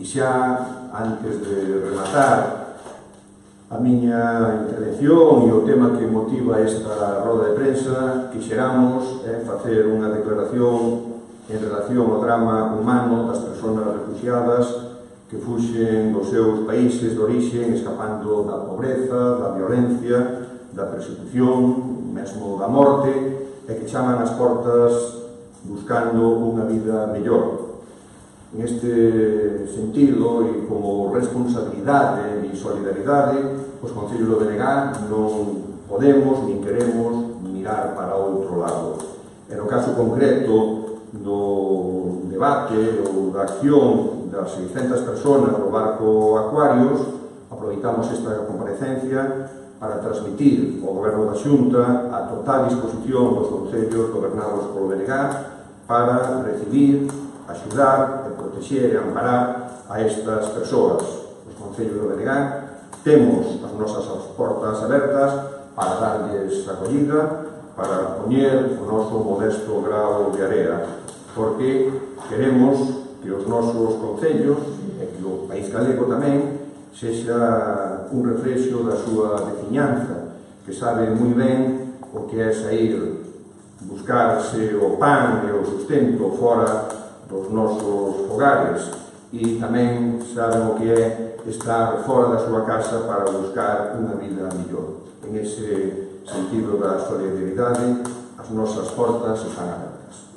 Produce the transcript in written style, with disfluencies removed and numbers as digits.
E xa, antes de rematar a miña intervención e o tema que motiva esta roda de prensa, quixeramos facer unha declaración en relación ao drama humano das persoas refugiadas que fuxen dos seus países de orixe escapando da pobreza, da violencia, da persecución, mesmo da morte, e que chaman as portas buscando unha vida mellor. En este sentido, e como responsabilidade e solidaridade, os Concellos do Belegá non podemos nin queremos mirar para outro lado. E no caso concreto do debate ou da acción das 600 persoas do barco Aquarius, aproveitamos esta comparecencia para transmitir ao Goberno da Xunta a total disposición dos concellos gobernados polo Belegá para recibir, axudar e protexer e amparar a estas persoas. Os concellos do Belegá temos as nosas portas abertas para darlles acollida, para poñer o noso modesto grao de area, porque queremos que os nosos concellos e que o país galego tamén sexa un reflexo da súa veciñanza, que sabe moi ben o que é sair, buscarse o pan e o sustento fora dos nosos fogares, e tamén saben o que é estar fora da súa casa para buscar unha vida mellor. En ese sentido da solidaridade, as nosas portas están abertas.